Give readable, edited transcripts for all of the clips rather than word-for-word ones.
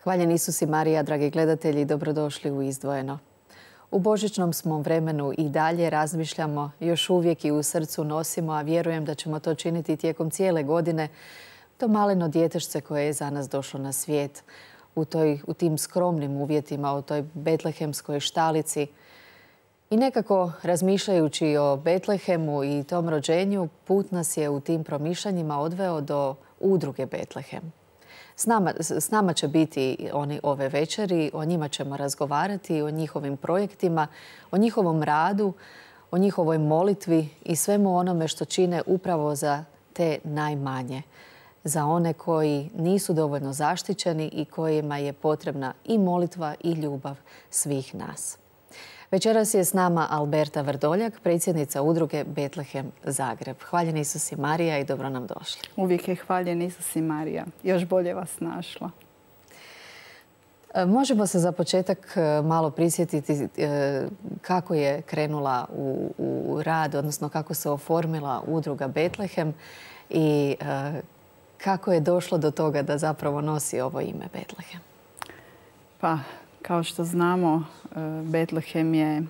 Hvaljen Isus i Marija, dragi gledatelji, dobrodošli u Izdvojeno. U božićnom smo vremenu i dalje razmišljamo, još uvijek i u srcu nosimo, a vjerujem da ćemo to činiti tijekom cijele godine, to maleno djetešce koje je za nas došlo na svijet. U tim skromnim uvjetima, u toj betlehemskoj štalici. I nekako razmišljajući o Betlehemu i tom rođenju, put nas je u tim promišljanjima odveo do udruge Betlehem. S nama će biti oni ove večeri, o njima ćemo razgovarati, o njihovim projektima, o njihovom radu, o njihovoj molitvi i svemu onome što čine upravo za te najmanje. Za one koji nisu dovoljno zaštićeni i kojima je potrebna i molitva i ljubav svih nas. Večeras je s nama Alberta Vrdoljak, predsjednica udruge Betlehem Zagreb. Hvaljen Isus i Marija i dobro nam došli. Uvijek je hvaljen Isus i Marija. Još bolje vas našla. Možemo se za početak malo prisjetiti kako je krenula u rad, odnosno kako se oformila udruga Betlehem i kako je došlo do toga da zapravo nosi ovo ime Betlehem. Pa, kao što znamo, Betlehem je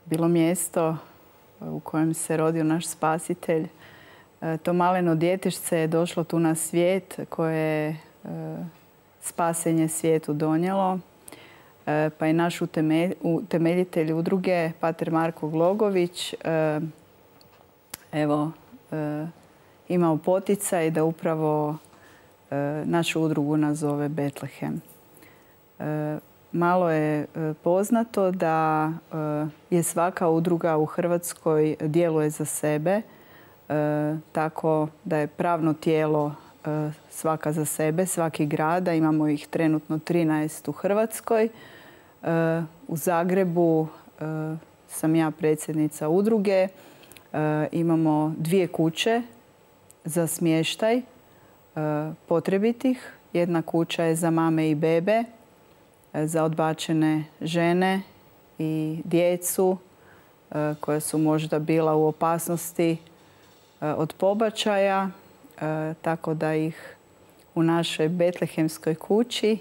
bilo mjesto u kojem se rodio naš spasitelj. To maleno djetešce je došlo tu na svijet koje je spasenje svijetu donijelo. Pa je naš utemeljitelj udruge, pater Marko Glogović, imao poticaj da upravo našu udrugu nazove Betlehem. Malo je poznato da je svaka udruga u Hrvatskoj djeluje za sebe, tako da je pravno tijelo svaka za sebe, svaki grada. Imamo ih trenutno 13 u Hrvatskoj. U Zagrebu sam ja predsjednica udruge. Imamo 2 kuće za smještaj potrebitih. Jedna kuća je za mame i bebe, za odbačene žene i djecu koja su možda bila u opasnosti od pobačaja, tako da ih u našoj betlehemskoj kući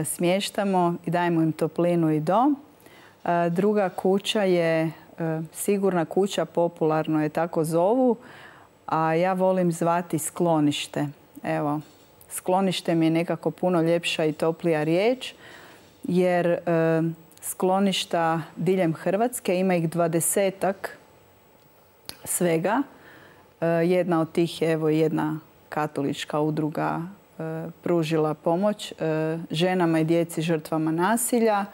smještamo i dajemo im toplinu i dom. Druga kuća je sigurna kuća, popularno je tako zovu, a ja volim zvati sklonište. Evo, sklonište mi je nekako puno ljepša i toplija riječ, jer skloništa diljem Hrvatske, ima ih 20-ak svega. Jedna od tih je jedna katolička udruga pružila pomoć ženama i djeci žrtvama nasilja.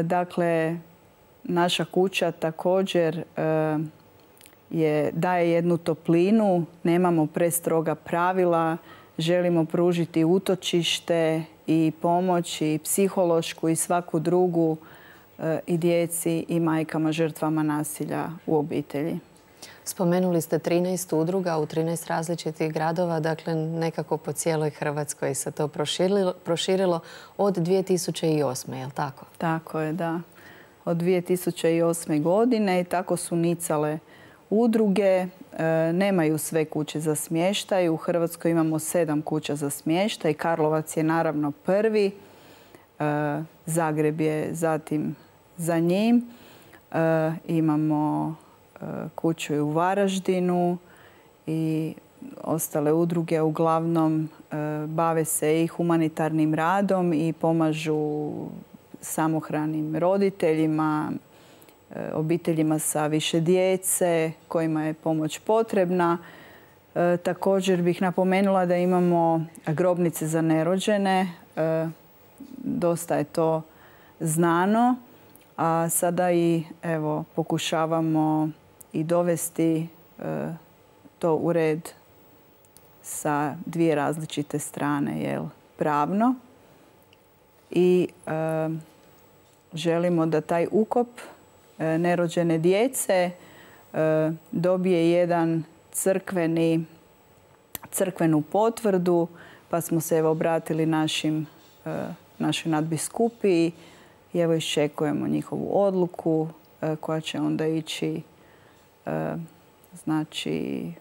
Dakle, naša kuća također daje jednu toplinu, nemamo prestroga pravila, želimo pružiti utočište i pomoć i psihološku i svaku drugu i djeci i majkama žrtvama nasilja u obitelji. Spomenuli ste 13 udruga u 13 različitih gradova, dakle nekako po cijeloj Hrvatskoj se to proširilo od 2008. je li tako? Tako je, da. Od 2008. godine i tako su nicale udruge. Nemaju sve kuće za smještaj. U Hrvatskoj imamo 7 kuća za smještaj. Karlovac je naravno prvi. Zagreb je zatim za njim. Imamo kuću u Varaždinu i ostale udruge uglavnom bave se i humanitarnim radom i pomažu samohranim roditeljima, obiteljima sa više djece kojima je pomoć potrebna. Također bih napomenula da imamo grobnice za nerođene. Dosta je to znano, a sada i pokušavamo i dovesti to u red sa 2 različite strane, pravno. I želimo da taj ukop nerođene djece dobije jedan crkvenu potvrdu pa smo se obratili našoj nadbiskupiji i evo iščekujemo njihovu odluku koja će onda ići znači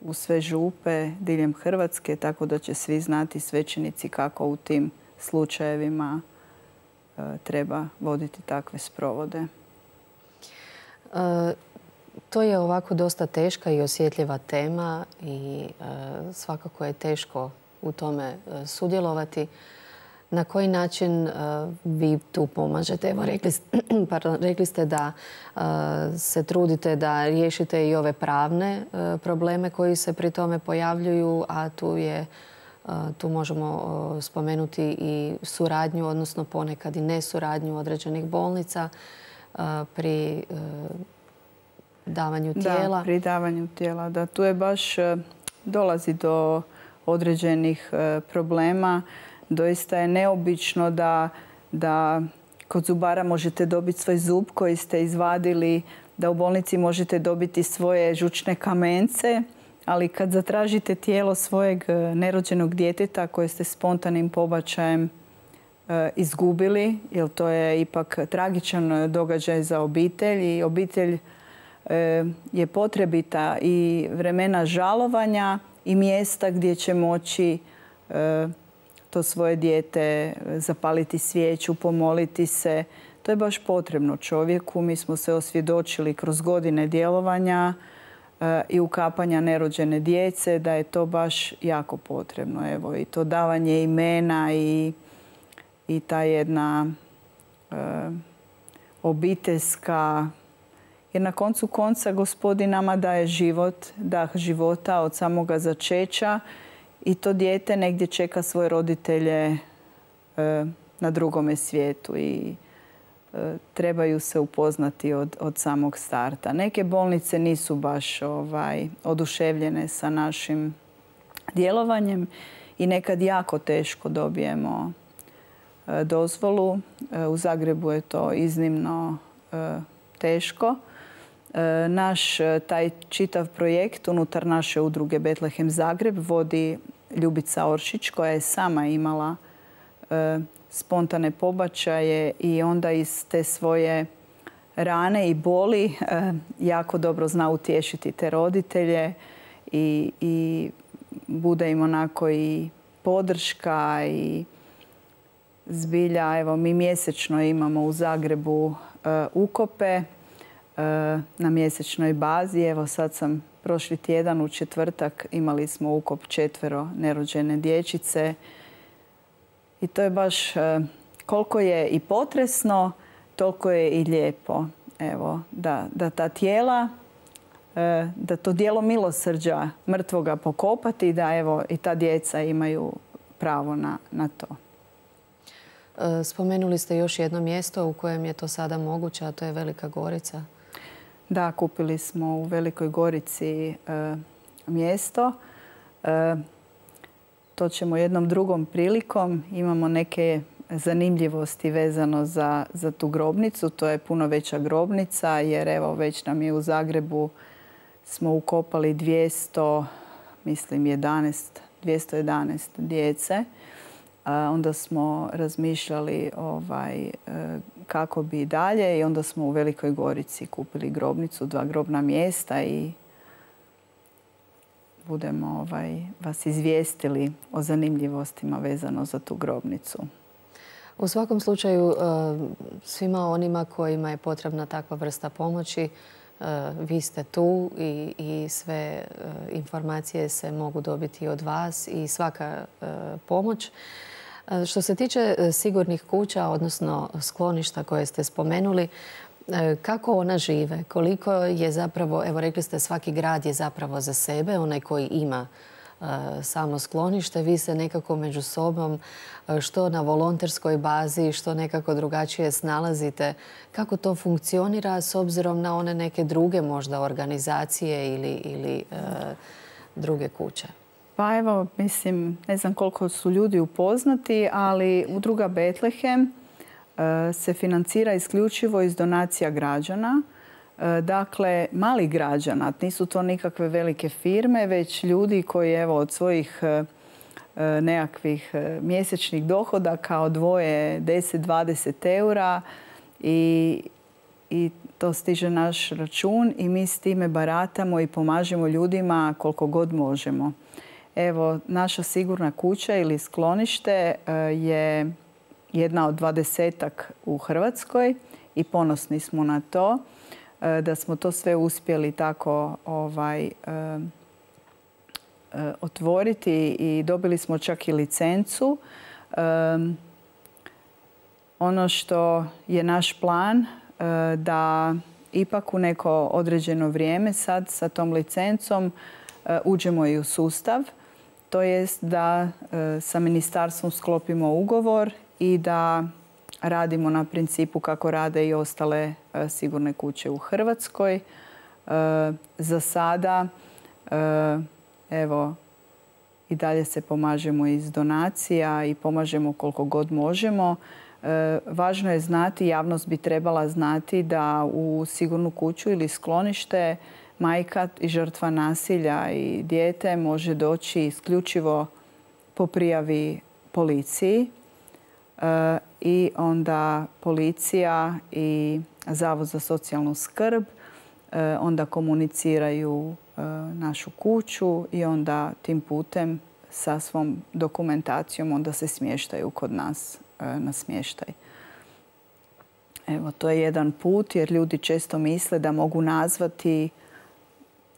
u sve župe diljem Hrvatske, tako da će svi znati, svećenici, kako u tim slučajevima treba voditi takve sprovode. To je ovako dosta teška i osjetljiva tema i svakako je teško u tome sudjelovati. Na koji način vi tu pomažete? Evo, rekli ste da se trudite da riješite i ove pravne probleme koji se pri tome pojavljuju, a tu možemo spomenuti i suradnju, odnosno ponekad i nesuradnju određenih bolnica pri davanju tijela. Da, pri davanju tijela. Da, tu je baš dolazi do određenih problema. Doista je neobično da kod zubara možete dobiti svoj zub koji ste izvadili, da u bolnici možete dobiti svoje žučne kamence, ali kad zatražite tijelo svojeg nerođenog djeteta koje ste spontanim pobačajem izgubili, jer to je ipak tragičan događaj za obitelj i obitelj je potrebita i vremena žalovanja i mjesta gdje će moći to svoje dijete zapaliti svijeću, pomoliti se. To je baš potrebno čovjeku. Mi smo se osvjedočili kroz godine djelovanja i ukapanja nerođene djece da je to baš jako potrebno. Evo, i to davanje imena i ta jedna obiteljska, jer na koncu konca Gospodin nama daje život, dah života od samoga začeća i to dijete negdje čeka svoje roditelje na drugome svijetu i trebaju se upoznati od samog starta. Neke bolnice nisu baš oduševljene sa našim djelovanjem i nekad jako teško dobijemo dozvolu. U Zagrebu je to iznimno teško. Naš taj čitav projekt unutar naše udruge Betlehem Zagreb vodi Ljubica Oršić koja je sama imala spontane pobačaje i onda iz te svoje rane i boli jako dobro zna utješiti te roditelje i bude im onako i podrška i zbilja. Evo, mi mjesečno imamo u Zagrebu ukope na mjesečnoj bazi. Evo, sad sam prošli tjedan u četvrtak imali smo ukop 4 nerođene dječice. I to je baš koliko je i potresno, toliko je i lijepo. Evo, da ta tijela, da to djelo milosrđa mrtvoga pokopati i da evo i ta djeca imaju pravo na to. Spomenuli ste još jedno mjesto u kojem je to sada moguće, a to je Velika Gorica. Da, kupili smo u Velikoj Gorici mjesto. To ćemo jednom drugom prilikom. Imamo neke zanimljivosti vezano za tu grobnicu. To je puno veća grobnica jer evo već nam je u Zagrebu smo ukopali 211 djece. Onda smo razmišljali kako bi dalje i onda smo u Velikoj Gorici kupili grobnicu, 2 grobna mjesta i budemo vas izvijestili o zanimljivostima vezano za tu grobnicu. U svakom slučaju, svima onima kojima je potrebna takva vrsta pomoći, vi ste tu i sve informacije se mogu dobiti od vas i svaka pomoć. Što se tiče sigurnih kuća, odnosno skloništa koje ste spomenuli, kako ona žive? Koliko je zapravo, evo rekli ste, svaki grad je zapravo za sebe, onaj koji ima samo sklonište. Vi se nekako među sobom, što na volonterskoj bazi, što nekako drugačije snalazite. Kako to funkcionira s obzirom na one neke druge možda organizacije ili druge kuće? Pa evo, mislim, ne znam koliko su ljudi upoznati, ali udruga Betlehem se financira isključivo iz donacija građana. Dakle, malih građana, nisu to nikakve velike firme, već ljudi koji evo od svojih nekakvih mjesečnih dohodaka, odvoje 10-20 eura i to stiže naš račun i mi s time baratamo i pomažemo ljudima koliko god možemo. Evo, naša sigurna kuća ili sklonište je jedna od 20-ak u Hrvatskoj i ponosni smo na to da smo to sve uspjeli tako otvoriti i dobili smo čak i licencu. Ono što je naš plan da ipak u neko određeno vrijeme sad sa tom licencom uđemo i u sustav. To jest da sa ministarstvom sklopimo ugovor i da radimo na principu kako rade i ostale sigurne kuće u Hrvatskoj. Za sada evo i dalje se pomažemo iz donacija i pomažemo koliko god možemo. Važno je znati, javnost bi trebala znati da u sigurnu kuću ili sklonište majka i žrtva nasilja i dijete može doći isključivo po prijavi policiji i onda policija i Zavod za socijalnu skrb onda komuniciraju našu kuću i onda tim putem sa svom dokumentacijom onda se smještaju kod nas na smještaj. Evo, to je jedan put jer ljudi često misle da mogu nazvati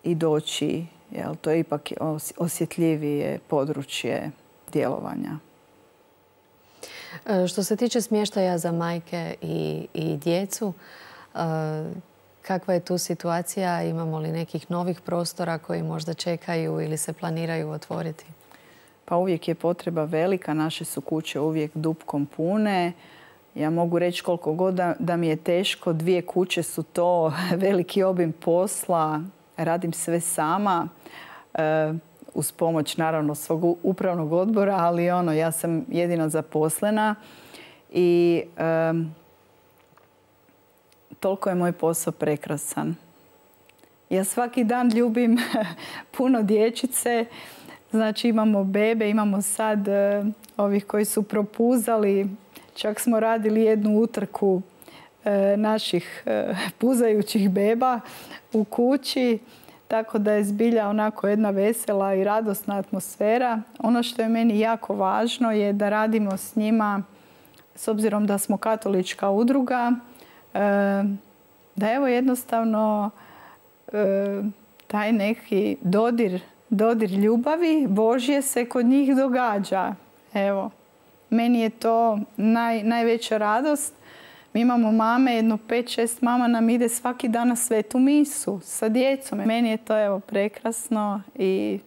i doći. Jel, to je ipak osjetljivije područje djelovanja. Što se tiče smještaja za majke i djecu, kakva je tu situacija? Imamo li nekih novih prostora koji možda čekaju ili se planiraju otvoriti? Pa uvijek je potreba velika. Naše su kuće uvijek dupkom pune. Ja mogu reći koliko god da mi je teško. 2 kuće su to veliki obim posla. Radim sve sama. Uz pomoć naravno svog upravnog odbora, ali ja sam jedina zaposlena. I toliko je moj posao prekrasan. Ja svaki dan ljubim puno dječice. Znači imamo bebe, imamo sad ovih koji su propuzali. Čak smo radili jednu utrku naših puzajućih beba u kući. Tako da je zbilja onako jedna vesela i radosna atmosfera. Ono što je meni jako važno je da radimo s njima, s obzirom da smo katolička udruga, da evo jednostavno taj neki dodir ljubavi Božje se kod njih događa. Evo, meni je to najveća radost. Mi imamo mame, jedno 5-6 mama nam ide svaki dan na svetu misu sa djecom. Meni je to evo prekrasno i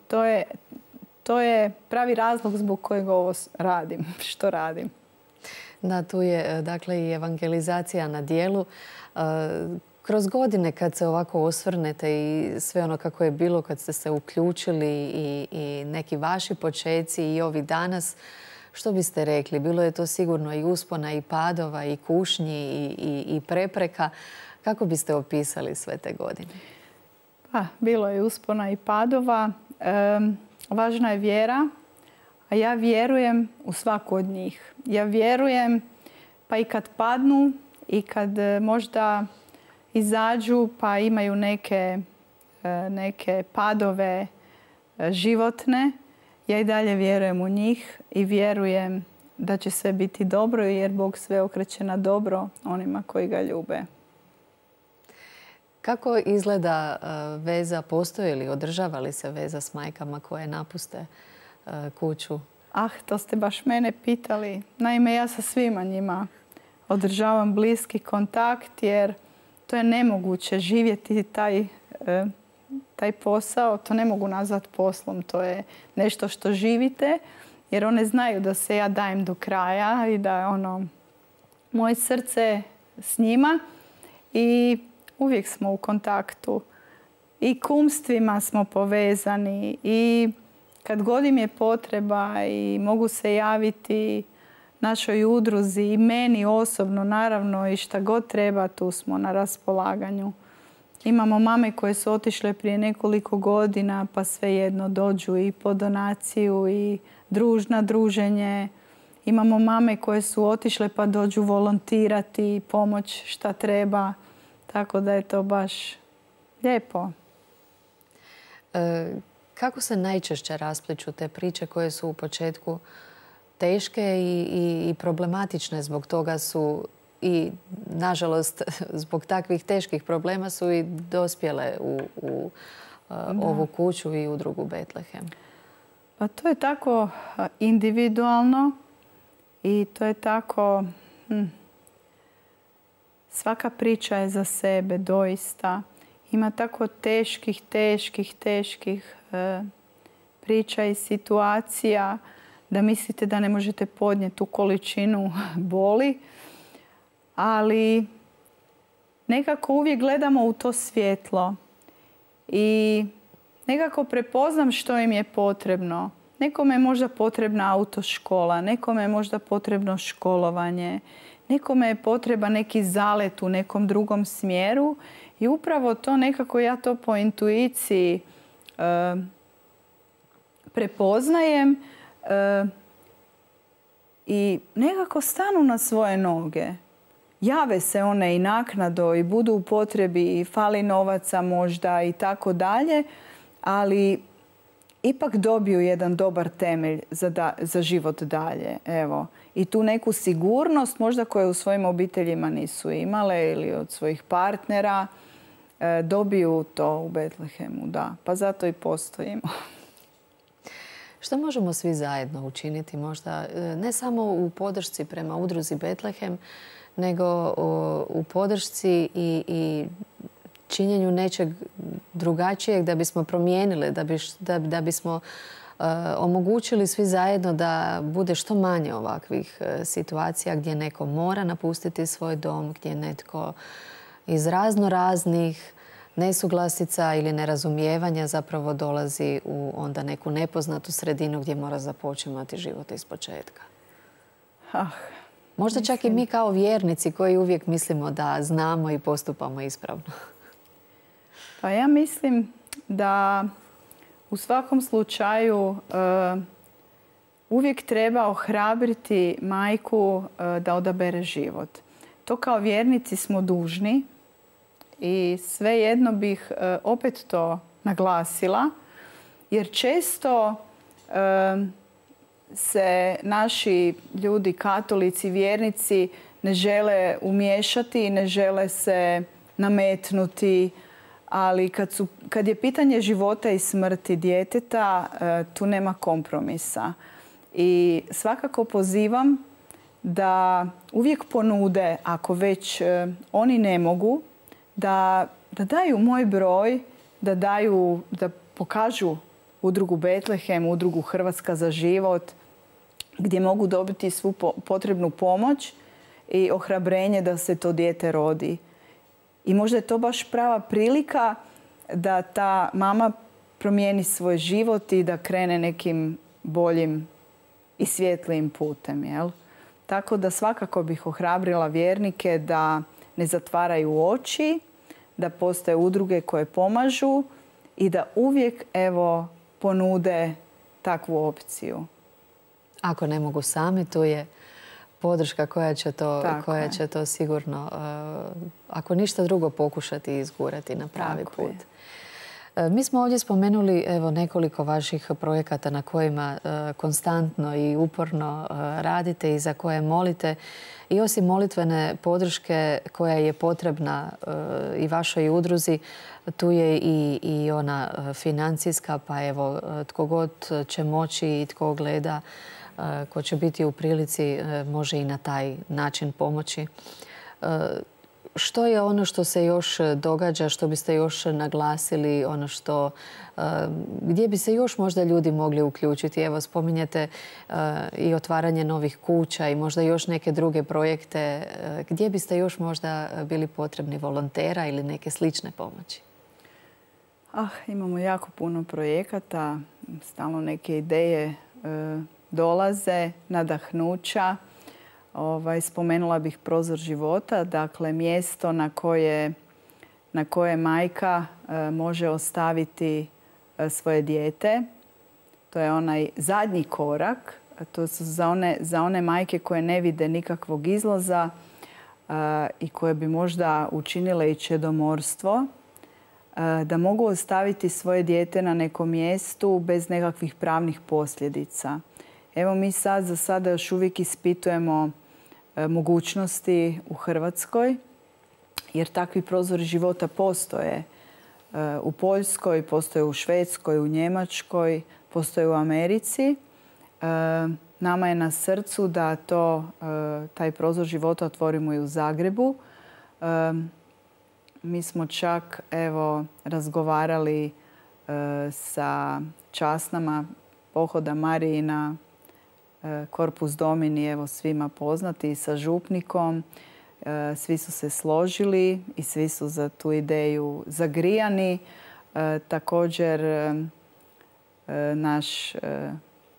to je pravi razlog zbog kojeg ovo radim, što radim. Da, tu je dakle i evangelizacija na djelu. Kroz godine kad se ovako osvrnete i sve ono kako je bilo kad ste se uključili i neki vaši počeci i ovi danas, što biste rekli? Bilo je to sigurno i uspona i padova i kušnji i prepreka. Kako biste opisali sve te godine? Pa, bilo je uspona i padova. Važna je vjera, a ja vjerujem u svaku od njih. Ja vjerujem pa i kad padnu i kad možda izađu pa imaju neke padove životne, ja i dalje vjerujem u njih i vjerujem da će sve biti dobro jer Bog sve okreće na dobro onima koji ga ljube. Kako izgleda veza? Postoji li, održava li se veza s majkama koje napuste kuću? To ste baš mene pitali. Naime, ja sa svima njima održavam bliski kontakt jer to je nemoguće živjeti taj posao. To ne mogu nazvati poslom. To je nešto što živite jer one znaju da se ja dajem do kraja i da je moje srce s njima i uvijek smo u kontaktu. I kumstvima smo povezani i kad god im je potreba i mogu se javiti našoj udruzi i meni osobno naravno i šta god treba tu smo na raspolaganju. Imamo mame koje su otišle prije nekoliko godina pa svejedno dođu i po donaciju i na druženje. Imamo mame koje su otišle pa dođu volontirati i pomoć šta treba. Tako da je to baš lijepo. Kako se najčešće raspliću te priče koje su u početku teške i problematične? Zbog toga su i, nažalost, zbog takvih teških problema su i dospjele u ovu kuću i udrugu Betlehem. Pa to je tako individualno i to je tako... Svaka priča je za sebe, doista. Ima tako teških priča i situacija da mislite da ne možete podnijeti tu količinu boli. Ali nekako uvijek gledamo u to svjetlo i nekako prepoznam što im je potrebno. Nekome je možda potrebna autoškola, nekome je možda potrebno školovanje, nekome je potreba neki zalet u nekom drugom smjeru i upravo to nekako ja to po intuiciji prepoznajem i nekako stanu na svoje noge. Jave se one i naknadno i budu u potrebi i fali novaca možda i tako dalje, ali ipak dobiju jedan dobar temelj za život dalje. Evo. I tu neku sigurnost možda koju u svojim obiteljima nisu imale ili od svojih partnera dobiju to u Betlehemu. Da. Pa zato i postojimo. Što možemo svi zajedno učiniti možda ne samo u podršci prema udruzi Betlehem, nego u podršci i činjenju nečeg drugačijeg da bismo promijenili, da bismo omogućili svi zajedno da bude što manje ovakvih situacija gdje neko mora napustiti svoj dom, gdje netko iz raznih nesuglasica ili nerazumijevanja zapravo dolazi u onda neku nepoznatu sredinu gdje mora započimati život ispočetka. Možda čak i mi kao vjernici koji uvijek mislimo da znamo i postupamo ispravno. Pa ja mislim da u svakom slučaju uvijek treba ohrabriti majku da odabere život. To kao vjernici smo dužni i svejedno bih opet to naglasila, jer često se naši ljudi, katolici, vjernici ne žele umiješati i ne žele se nametnuti, ali kad je pitanje života i smrti djeteta, tu nema kompromisa. I svakako pozivam da uvijek ponude, ako već oni ne mogu, da daju moj broj, da pokažu udrugu Betlehem, udrugu Hrvatska za život, gdje mogu dobiti svu potrebnu pomoć i ohrabrenje da se to dijete rodi. I možda je to baš prava prilika da ta mama promijeni svoj život i da krene nekim boljim i svjetlijim putem. Jel? Tako da svakako bih ohrabrila vjernike da ne zatvaraju oči, da postoje udruge koje pomažu i da uvijek ponude takvu opciju. Ako ne mogu sami, tu je podrška koja će to sigurno, ako ništa drugo, pokušati izgurati na pravi put. Mi smo ovdje spomenuli nekoliko vaših projekata na kojima konstantno i uporno radite i za koje molite. I osim molitvene podrške koja je potrebna i vašoj udruzi, tu je i ona financijska, pa evo tko god će moći i tko gleda, ko će biti u prilici, može i na taj način pomoći. Što je ono što se još događa, što biste još naglasili, ono gdje bi se još možda ljudi mogli uključiti? Evo, spominjete i otvaranje novih kuća i možda još neke druge projekte. Gdje biste još možda bili potrebni volontera ili neke slične pomoći? Imamo jako puno projekata, stalno neke ideje dolaze, nadahnuća. Spomenula bih Prozor života, dakle mjesto na na koje majka može ostaviti svoje dijete. To je onaj zadnji korak. To su za one majke koje ne vide nikakvog izlaza i koje bi možda učinile i čedomorstvo, da mogu ostaviti svoje dijete na nekom mjestu bez nekakvih pravnih posljedica. Evo mi za sada još uvijek ispitujemo mogućnosti u Hrvatskoj, jer takvi prozori života postoje u Poljskoj, postoje u Švedskoj, u Njemačkoj, postoje u Americi. Nama je na srcu da taj prozor života otvorimo i u Zagrebu. Mi smo čak razgovarali sa časnama pohoda Marijina, Corpus Domini, svima poznati, i sa župnikom. Svi su se složili i svi su za tu ideju zagrijani. Također naš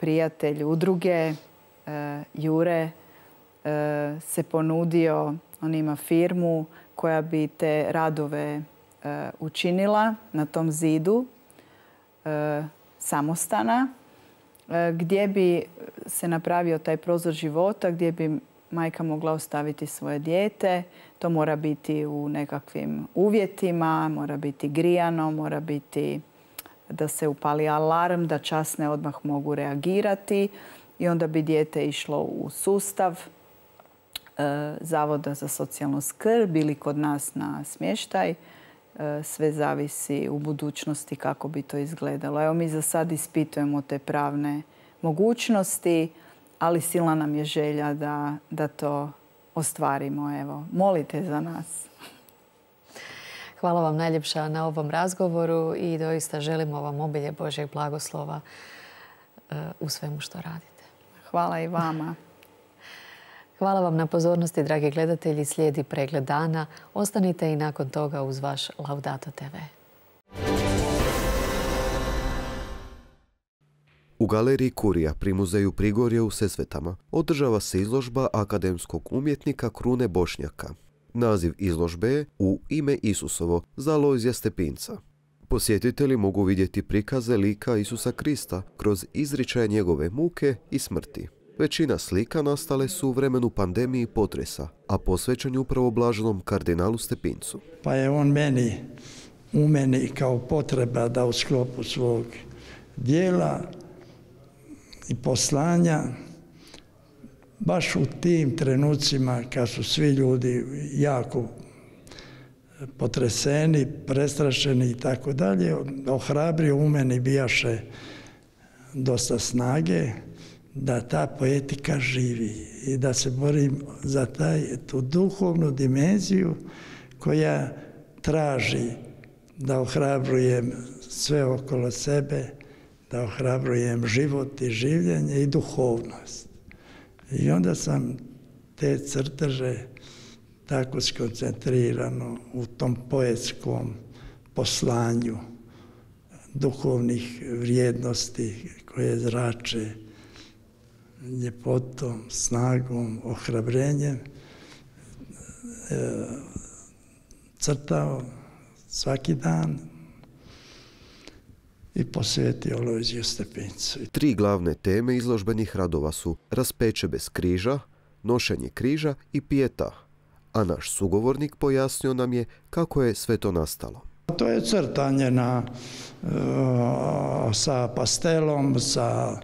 prijatelj udruge Jure se ponudio, on ima firmu koja bi te radove učinila na tom zidu samostana, gdje bi se napravio taj prozor života, gdje bi majka mogla ostaviti svoje dijete. To mora biti u nekakvim uvjetima, mora biti grijano, mora biti da se upali alarm, da časne odmah mogu reagirati i onda bi dijete išlo u sustav Zavoda za socijalnu skrb ili kod nas na smještaj. Sve zavisi u budućnosti kako bi to izgledalo. Evo mi za sad ispitujemo te pravne mogućnosti, ali silna nam je želja da to ostvarimo. Evo, molite za nas. Hvala vam najljepša na ovom razgovoru i doista želimo vam obilje Božjeg blagoslova u svemu što radite. Hvala i vama. Hvala vam na pozornosti, dragi gledatelji. Slijedi pregled dana. Ostanite i nakon toga uz vaš Laudato TV. U galeriji Kurija pri muzeju Prigorje u Sesvetama održava se izložba akademskog umjetnika Krune Bošnjaka. Naziv izložbe je U ime Isusovo za Alojzija Stepinca. Posjetitelji mogu vidjeti prikaze lika Isusa Krista kroz izričaje njegove muke i smrti. Većina slika nastale su u vremenu pandemije i potresa, a posvećen je upravo blaženom kardinalu Stepincu. Pa je on u meni kao potreba da u sklopu svog dijela i poslanja, baš u tim trenucima kad su svi ljudi jako potreseni, prestrašeni i tako dalje, ohrabrio u meni bijaše dosta snage da ta poetika živi i da se borim za tu duhovnu dimenziju koja traži da ohrabrujem sve okolo sebe, da ohrabrujem život i življenje i duhovnost. I onda sam te crteže tako skoncentrirano u tom poetskom poslanju duhovnih vrijednosti koje zrače ljepotom, snagom, ohrabrenjem, crtao svaki dan i posvetio Alojziju Stepincu. 3 glavne teme izložbenih radova su Raspeće bez križa, Nošenje križa i Pijeta, a naš sugovornik pojasnio nam je kako je sve to nastalo. To je crtanje sa pastelom, sa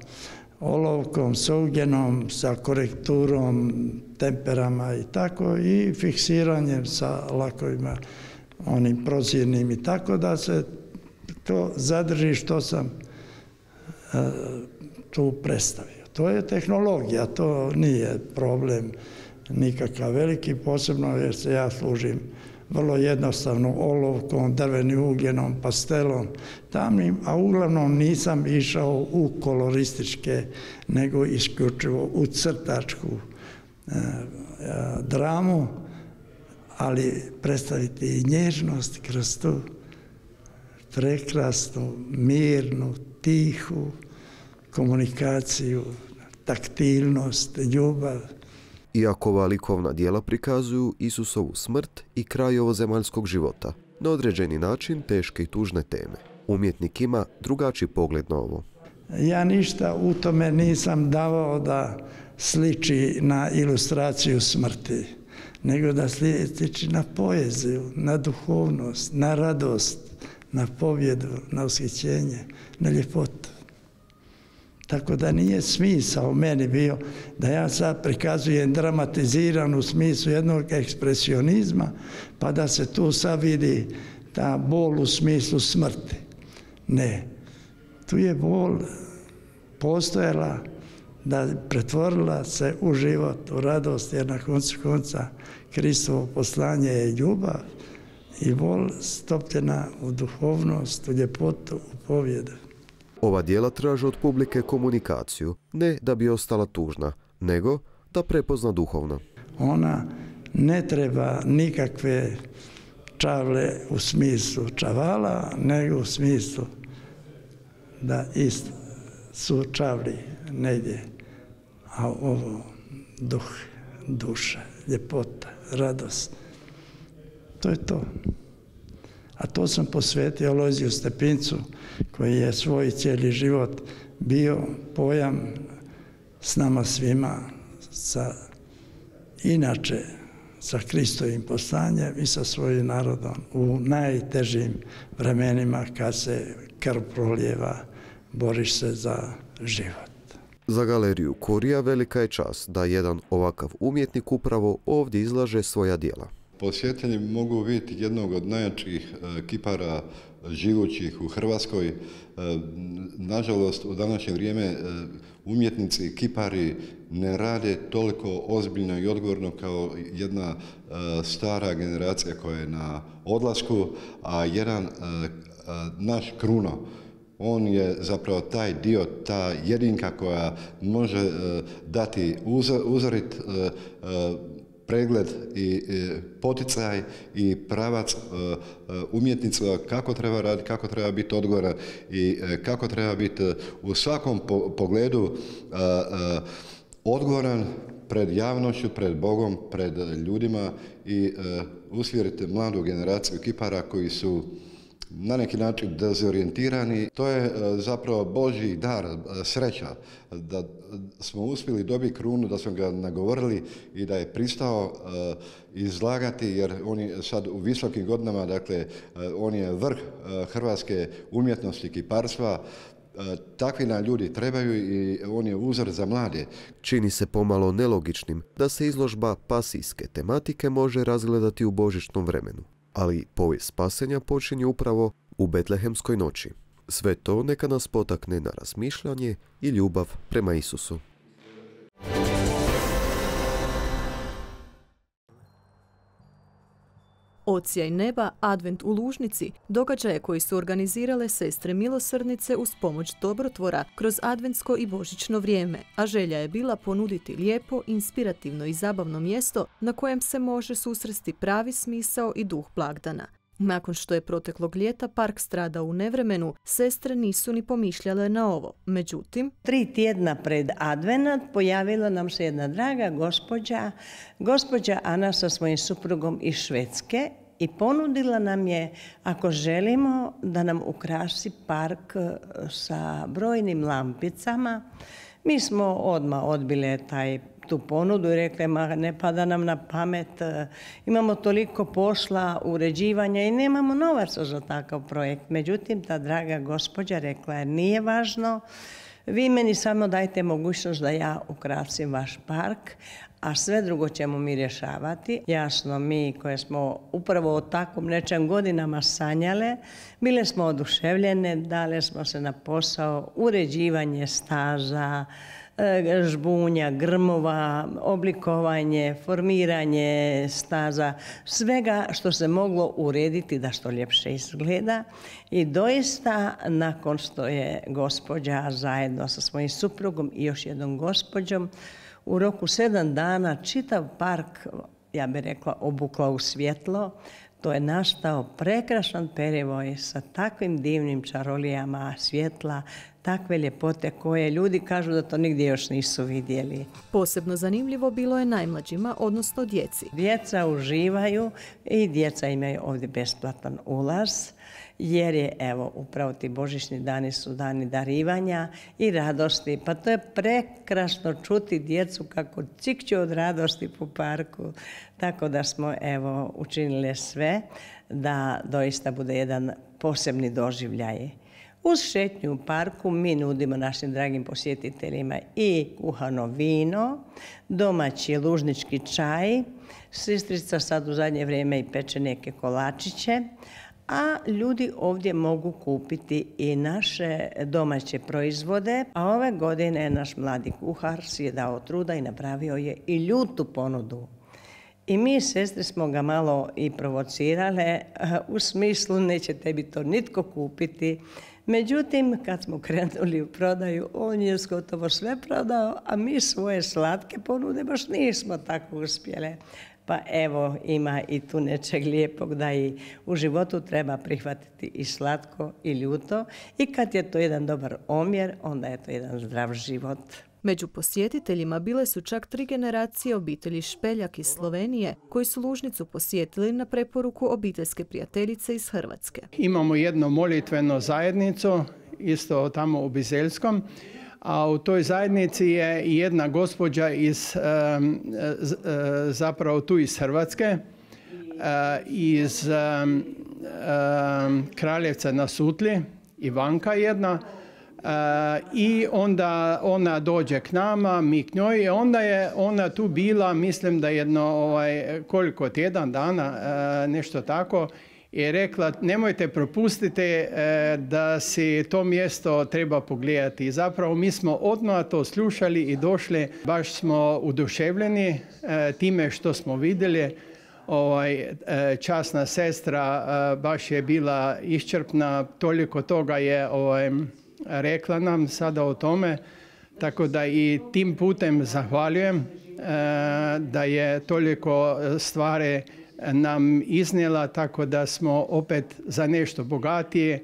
olovkom, sa ugljenom, sa korekturom, temperama i tako, i fiksiranjem sa lakovima, onim prozirnim, i tako da se to zadrži što sam tu predstavio. To je tehnologija, to nije problem nikakav veliki, posebno jer se ja služim vrlo jednostavno olovkom, drvenim ugljenom, pastelom, tamnim, a uglavnom nisam išao u kolorističke, nego isključivo u crtačku dramu, ali predstaviti i nježnost kroz tu prekrasnu, mirnu, tihu komunikaciju, taktilnost, ljubav. Iako ova likovna djela prikazuju Isusovu smrt i kraj ovozemaljskog života, na određeni način teške i tužne teme. Umjetnik ima drugačiji pogled na ovo. Ja ništa u tome nisam davao da sliči na ilustraciju smrti, nego da sliči na poeziju, na duhovnost, na radost, na pobjedu, na ushićenje, na ljepotu. Tako da nije smisao meni bio da ja sad prikazujem dramatiziran u smislu jednog ekspresionizma, pa da se tu sad vidi ta bol u smislu smrti. Ne, tu je bol postojala da pretvorila se u život, u radost, jer na koncu konca Kristovo poslanje je ljubav i bol stopljena u duhovnost, u ljepotu, u pobjedu. Ova djela traže od publike komunikaciju, ne da bi ostala tužna, nego da prepozna duhovno. Ona ne treba nikakve čavle u smislu čavala, nego u smislu da isto su čavli negdje, a ovo duh, duša, ljepota, radost, to je to. A to sam posvetio Alojziju Stepincu, koji je svoj cijeli život bio pojam s nama svima, inače sa Kristovim poslanjem i sa svojim narodom u najtežim vremenima kad se krv prolijeva, boriš se za život. Za galeriju Kurija velika je čast da jedan ovakav umjetnik upravo ovdje izlaže svoja djela. Posjetitelji mogu vidjeti jednog od najjačih kipara živućih u Hrvatskoj. Nažalost, u današnje vrijeme umjetnici i kipari ne rade toliko ozbiljno i odgovorno kao jedna stara generacija koja je na odlasku, a jedan naš Kruno, on je zapravo taj dio, ta jedinka koja može dati uzorit pregled i poticaj i pravac umjetnica kako treba raditi, kako treba biti odgovoran i kako treba biti u svakom pogledu odgovoran pred javnošću, pred Bogom, pred ljudima i usmjeriti mladu generaciju kipara koji su na neki način dezorijentirani. To je zapravo Božji dar, sreća, da smo uspjeli dobiti Krunu, da smo ga nagovorili i da je pristao izlagati, jer on je sad u visokim godinama, dakle, on je vrh hrvatske umjetnosti, kiparstva. Takvi nam ljudi trebaju i on je uzor za mlade. Čini se pomalo nelogičnim da se izložba pasijske tematike može razgledati u božićnom vremenu. Ali povijest spasenja počinje upravo u Betlehemskoj noći. Sve to neka nas potakne na razmišljanje i ljubav prema Isusu. Odsjaj neba, advent u Lužnici, događaje koji su organizirale sestre milosrdnice uz pomoć dobrotvora kroz adventsko i božićno vrijeme, a želja je bila ponuditi lijepo, inspirativno i zabavno mjesto na kojem se može susresti pravi smisao i duh blagdana. Nakon što je proteklog ljeta park stradao u nevremenu, sestre nisu ni pomišljale na ovo. Međutim, 3 tjedna pred advenat pojavila nam se jedna draga gospođa Ana sa svojim suprugom iz Švedske i ponudila nam je, ako želimo, da nam ukrasi park sa brojnim lampicama. Mi smo odmah odbile tu ponudu i rekli, ne pada nam na pamet, imamo toliko posla, uređivanja i nemamo novaca za takav projekt. Međutim, ta draga gospođa rekla je, nije važno, vi meni samo dajte mogućnost da ja ukrasim vaš park, a sve drugo ćemo mi rješavati. Jasno, mi koje smo upravo o takvom nečem godinama sanjale, bile smo oduševljene, dale smo se na posao, uređivanje staza, žbunja, grmova, oblikovanje, formiranje staza, svega što se moglo urediti da što ljepše izgleda. I doista, nakon što je gospođa zajedno sa svojim suprugom i još jednom gospođom u roku 7 dana čitav park, ja bih rekla, obukla u svjetlo, to je nastao prekrasan perivoj sa takvim divnim čarolijama svjetla, takve ljepote koje ljudi kažu da to nigdje još nisu vidjeli. Posebno zanimljivo bilo je najmlađima, odnosno djeci. Djeca uživaju i djeca imaju ovdje besplatan ulaz, jer je, evo, upravo ti božićni dani su dani darivanja i radosti. Pa to je prekrasno čuti djecu kako cikću od radosti po parku. Tako da smo, evo, učinili sve da doista bude jedan posebni doživljaj. Uz šetnju u parku mi nudimo našim dragim posjetiteljima i kuhano vino, domaći lužnički čaj, sestrica sad u zadnje vrijeme i peče neke kolačiće, a ljudi ovdje mogu kupiti i naše domaće proizvode. A ove godine naš mladi kuhar si je dao truda i napravio je i ljutu ponudu. I mi, sestre, smo ga malo i provocirale u smislu neće tebi to nitko kupiti. Međutim, kad smo krenuli u prodaju, on je gotovo sve prodao, a mi svoje slatke ponude baš nismo tako uspjele. Pa evo, ima i tu nečeg lijepog da i u životu treba prihvatiti i slatko i ljuto. I kad je to jedan dobar omjer, onda je to jedan zdrav život. Među posjetiteljima bile su čak 3 generacije obitelji Špeljak iz Slovenije koji su Lužnicu posjetili na preporuku obiteljske prijateljice iz Hrvatske. Imamo jednu molitvenu zajednicu, isto tamo u Bizelskom, a u toj zajednici je jedna gospođa zapravo tu iz Hrvatske, iz Kraljevca na Sutli, Ivanka jedna. I onda ona dođe k nama, mi k njoj i onda je ona tu bila, mislim da jedno koliko tjedan dana, nešto tako, i rekla nemojte propustiti da si to mjesto treba pogledati. I zapravo mi smo odmah to slušali i došli, baš smo oduševljeni time što smo vidjeli. Časna sestra baš je bila iscrpna, toliko toga je rekla nam sada o tome, tako da i tim putem zahvaljujem da je toliko stvari nam iznijela, tako da smo opet za nešto bogatiji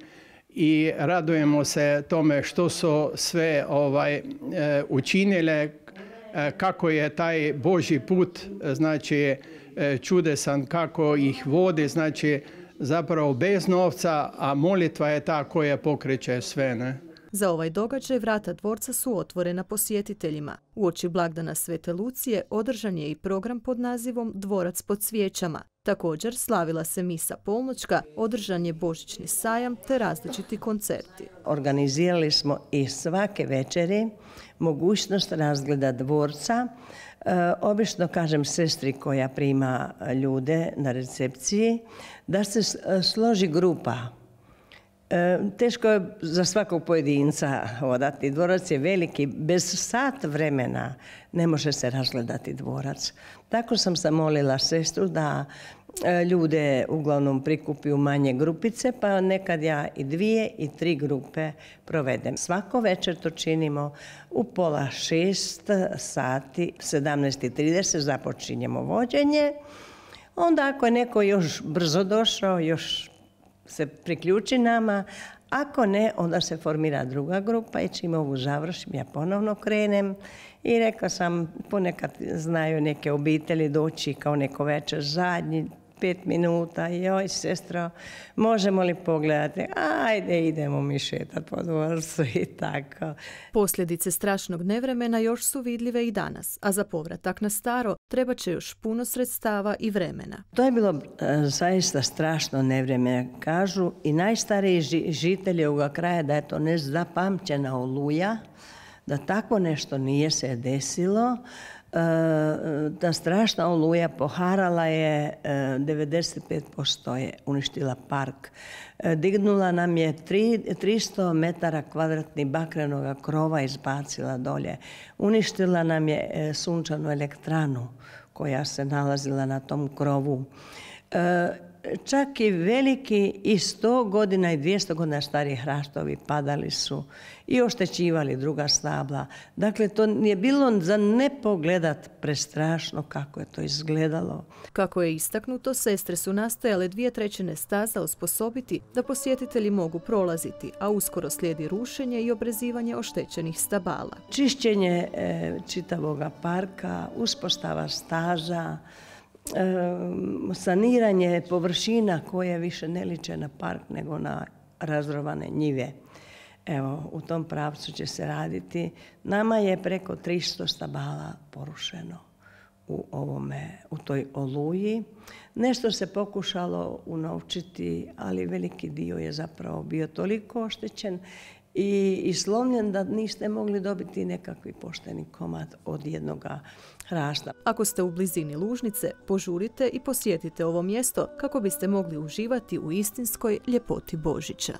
i radujemo se tome što su sve učinile, kako je taj Božji put, znači čudesan, kako ih vodi, znači zapravo bez novca, a molitva je ta koja pokreće sve, ne? Za ovaj događaj vrata dvorca su otvorena posjetiteljima. Uoči blagdana Svete Lucije održan je i program pod nazivom Dvorac pod svijećama. Također slavila se misa polnoćka, održan je božićni sajam te različiti koncerti. Organizirali smo i svake večeri mogućnost razgleda dvorca. Obično kažem sestri koja prima ljude na recepciji da se složi grupa. Teško je za svakog pojedinca odati. Dvorac je veliki, bez sat vremena ne može se razgledati dvorac. Tako sam zamolila sestru da ljude uglavnom prikupi u manje grupice, pa nekad ja i 2 i 3 grupe provedem. Svako večer to činimo u 5:30 sati, 17:30 započinjemo vođenje. Onda ako je neko još brzo došao, još se priključi nama, ako ne, onda se formira druga grupa i čim ovu završim, ja ponovno krenem i rekla sam, ponekad znaju neke obitelji doći kao neko večer zadnji, 5 minuta, joj sestro, možemo li pogledati? Ajde, idemo mi šetati po dvorcu i tako. Posljedice strašnog nevremena još su vidljive i danas, a za povratak na staro treba će još puno sredstava i vremena. To je bilo zaista strašno nevreme, kažu i najstariji žitelji ovoga kraja da je to nezapamćena oluja, da tako nešto nije se desilo. Ta strašna oluja poharala je 95%, je uništila park. Dignula nam je 300 metara kvadratnih bakrenog krova, izbacila dolje. Uništila nam je sunčanu elektranu koja se nalazila na tom krovu. čak i veliki i 100 godina i 200 godina stari hrastovi padali su i oštećivali druga stabla. Dakle, to je bilo za ne pogledat prestrašno kako je to izgledalo. Kako je istaknuto, sestre su nastojale 2/3 staza osposobiti da posjetitelji mogu prolaziti, a uskoro slijedi rušenje i obrezivanje oštećenih stabala. Čišćenje čitavoga parka, uspostava staza, saniranje površina koje više ne liče na park nego na razrovane njive. Evo, u tom pravcu će se raditi. Nama je preko 300 stabala porušeno u toj oluji. Nešto se pokušalo unovčiti, ali veliki dio je zapravo bio toliko oštećen i slomljen da niste mogli dobiti nekakvi pošteni komad od jednoga hrasta. Ako ste u blizini Lužnice, požurite i posjetite ovo mjesto kako biste mogli uživati u istinskoj ljepoti Božića.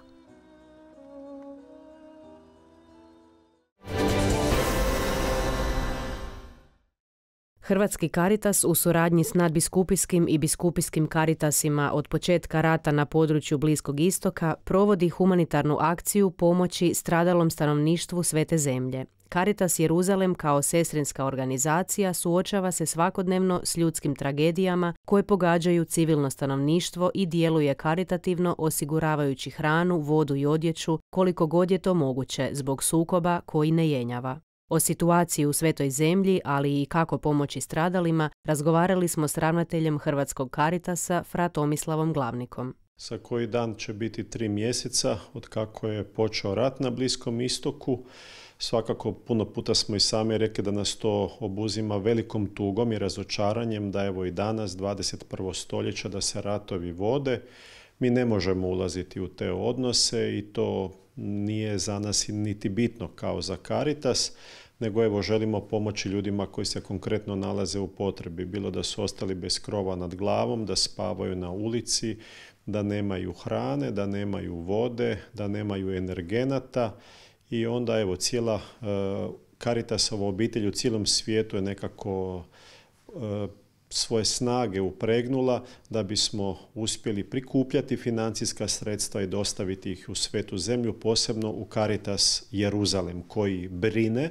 Hrvatski Caritas u suradnji s nadbiskupijskim i biskupijskim Caritasima od početka rata na području Bliskog istoka provodi humanitarnu akciju pomoći stradalom stanovništvu Svete zemlje. Caritas Jeruzalem kao sestrinska organizacija suočava se svakodnevno s ljudskim tragedijama koje pogađaju civilno stanovništvo i djeluje karitativno osiguravajući hranu, vodu i odjeću koliko god je to moguće zbog sukoba koji ne jenjava. O situaciji u Svetoj zemlji, ali i kako pomoći stradalima, razgovarali smo s ravnateljem Hrvatskog Caritasa, fra Tomislavom Glavnikom. Za koji dan će biti 3 mjeseca od kako je počeo rat na Bliskom istoku. Svakako puno puta smo i sami rekli da nas to obuzima velikom tugom i razočaranjem da evo i danas, 21. stoljeća, da se ratovi vode. Mi ne možemo ulaziti u te odnose i to nije za nas niti bitno kao za Caritas, nego evo želimo pomoći ljudima koji se konkretno nalaze u potrebi, bilo da su ostali bez krova nad glavom, da spavaju na ulici, da nemaju hrane, da nemaju vode, da nemaju energenata i onda evo cijela Caritasova obitelj u cijelom svijetu je nekako svoje snage upregnula da bismo uspjeli prikupljati financijska sredstva i dostaviti ih u Svetu zemlju, posebno u Caritas Jeruzalem koji brine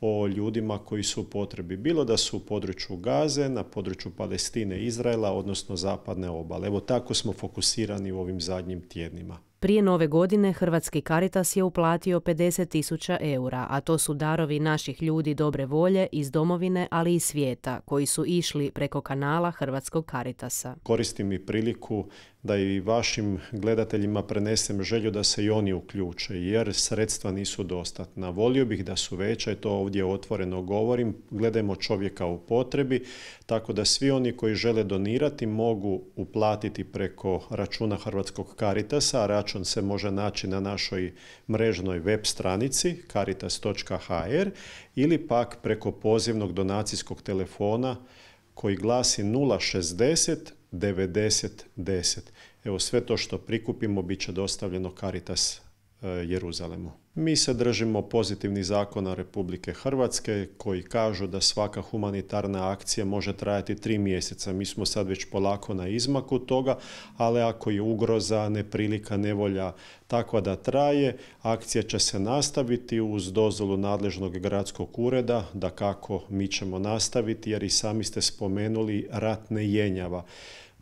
o ljudima koji su u potrebi. Bilo da su u području Gaze, na području Palestine, Izraela, odnosno zapadne obale. Evo tako smo fokusirani u ovim zadnjim tjednima. Prije nove godine Hrvatski Caritas je uplatio 50.000 eura, a to su darovi naših ljudi dobre volje iz domovine, ali i svijeta, koji su išli preko kanala Hrvatskog Caritasa. Koristim i priliku da i vašim gledateljima prenesem želju da se i oni uključe, jer sredstva nisu dostatna. Volio bih da su veća i to ovdje otvoreno govorim. Gledajmo čovjeka u potrebi, tako da svi oni koji žele donirati mogu uplatiti preko računa Hrvatskog Caritasa, a račun se može naći na našoj mrežnoj web stranici caritas.hr ili pak preko pozivnog donacijskog telefona koji glasi 060 90 10. Evo sve to što prikupimo bit će dostavljeno Caritas Jeruzalemu. Mi se držimo pozitivnih zakona Republike Hrvatske koji kažu da svaka humanitarna akcija može trajati 3 mjeseca. Mi smo sad već polako na izmaku toga, ali ako je ugroza, neprilika, nevolja takva da traje, akcija će se nastaviti uz dozvolu nadležnog gradskog ureda, da kako mi ćemo nastaviti jer i sami ste spomenuli rat ne jenjava.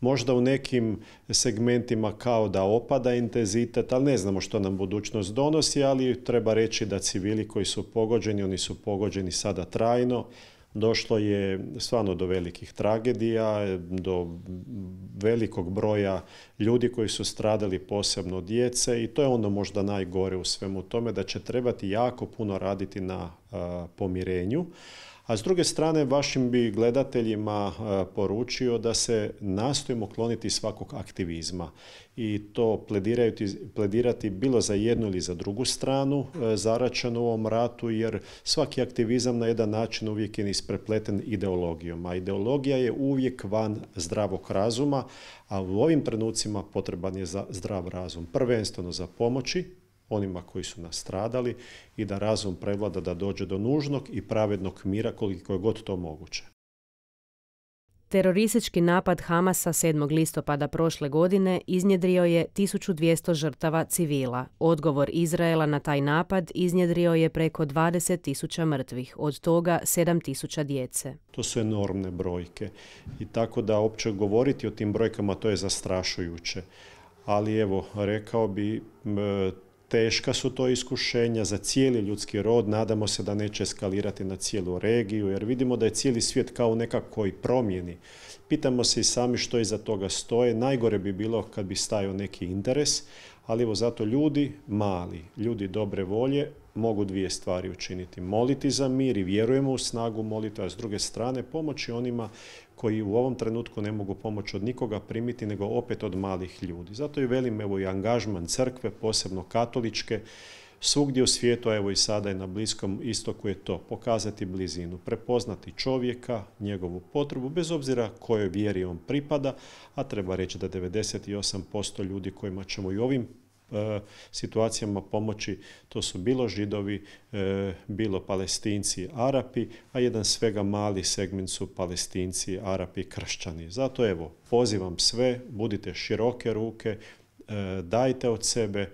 Možda u nekim segmentima kao da opada intenzitet, ali ne znamo što nam budućnost donosi, ali treba reći da civili koji su pogođeni, oni su pogođeni sada trajno. Došlo je stvarno do velikih tragedija, do velikog broja ljudi koji su stradali, posebno djece i to je ono možda najgore u svemu tome, da će trebati jako puno raditi na pomirenju. A s druge strane, vašim bi gledateljima poručio da se nastojimo kloniti svakog aktivizma i to pledirati bilo za jednu ili za drugu stranu zaračenu u ovom ratu, jer svaki aktivizam na jedan način uvijek je isprepleten ideologijom, a ideologija je uvijek van zdravog razuma, a u ovim trenucima potreban je zdrav razum, prvenstveno za pomoći onima koji su nastradali i da razum prevlada da dođe do nužnog i pravednog mira koliko je god to moguće. Teroristički napad Hamasa 7. listopada prošle godine iznjedrio je 1200 žrtava civila. Odgovor Izraela na taj napad iznjedrio je preko 20.000 mrtvih, od toga 7.000 djece. To su enormne brojke i tako da opće govoriti o tim brojkama to je zastrašujuće. Ali evo, rekao bi, teška su to iskušenja za cijeli ljudski rod, nadamo se da neće eskalirati na cijelu regiju, jer vidimo da je cijeli svijet kao u nekakvoj promjeni. Pitamo se i sami što iza toga stoje. Najgore bi bilo kad bi stajao neki interes, ali evo zato ljudi mali, ljudi dobre volje mogu dvije stvari učiniti. Moliti za mir i vjerujemo u snagu molitve, a s druge strane pomoći onima koji u ovom trenutku ne mogu pomoć od nikoga primiti, nego opet od malih ljudi. Zato i velim, evo, i angažman crkve, posebno katoličke, svugdje u svijetu, a evo i sada i na Bliskom istoku je to, pokazati blizinu, prepoznati čovjeka, njegovu potrebu, bez obzira kojoj vjeri on pripada, a treba reći da 98% ljudi kojima ćemo i ovim situacijama pomoći, to su bilo Židovi, bilo Palestinci, Arapi, a jedan svega mali segment su Palestinci, Arapi, kršćani. Zato evo, pozivam sve, budite široke ruke, dajte od sebe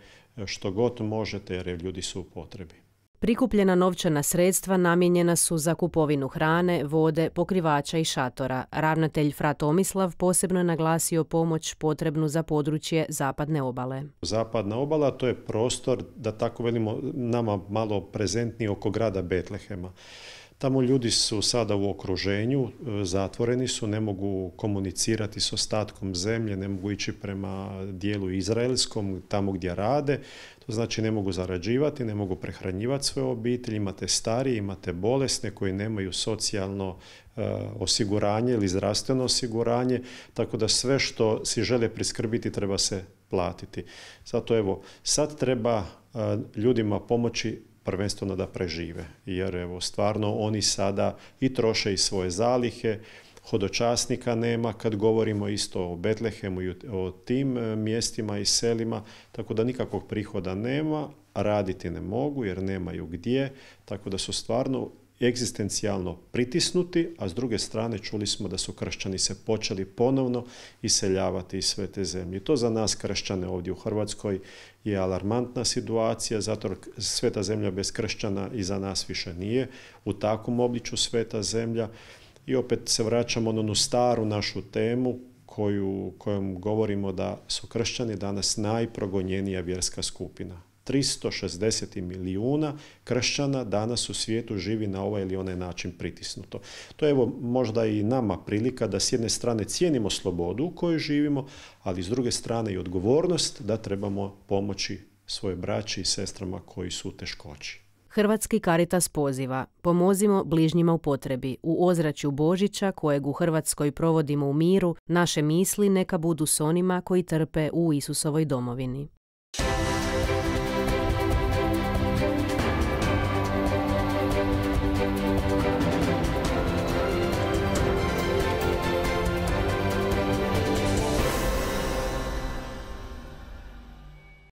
što god možete, jer ljudi su u potrebi. Prikupljena novčana sredstva namijenjena su za kupovinu hrane, vode, pokrivača i šatora. Ravnatelj Fra Tomislav posebno je naglasio pomoć potrebnu za područje Zapadne obale. Zapadna obala, to je prostor, da tako velimo, nama malo prezentniji oko grada Betlehema. Tamo ljudi su sada u okruženju, zatvoreni su, ne mogu komunicirati s ostatkom zemlje, ne mogu ići prema dijelu izraelskom, tamo gdje rade. To znači ne mogu zarađivati, ne mogu prehranjivati svoje obitelji, imate starije, imate bolesne koji nemaju socijalno osiguranje ili zdravstveno osiguranje, tako da sve što si žele priskrbiti treba se platiti. Zato evo, sad treba ljudima pomoći prvenstveno da prežive, jer evo, stvarno oni sada i troše i svoje zalihe, hodočasnika nema kad govorimo isto o Betlehemu i o tim mjestima i selima, tako da nikakvog prihoda nema, raditi ne mogu jer nemaju gdje, tako da su stvarno egzistencijalno pritisnuti, a s druge strane čuli smo da su kršćani se počeli ponovno iseljavati iz sve te zemlje. To za nas kršćane ovdje u Hrvatskoj je alarmantna situacija, zato sveta zemlja bez kršćana i za nas više nije u takvom obličju sveta zemlja. I opet se vraćamo na onu staru našu temu kojom govorimo da su kršćani danas najprogonjenija vjerska skupina. 360 milijuna kršćana danas u svijetu živi na ovaj ili onaj način pritisnuto. To je evo možda i nama prilika da s jedne strane cijenimo slobodu u kojoj živimo, ali s druge strane i odgovornost da trebamo pomoći svoje braći i sestrama koji su u teškoći. Hrvatski Caritas poziva: pomozimo bližnjima u potrebi. U ozračju Božića, kojeg u Hrvatskoj provodimo u miru, naše misli neka budu s onima koji trpe u Isusovoj domovini.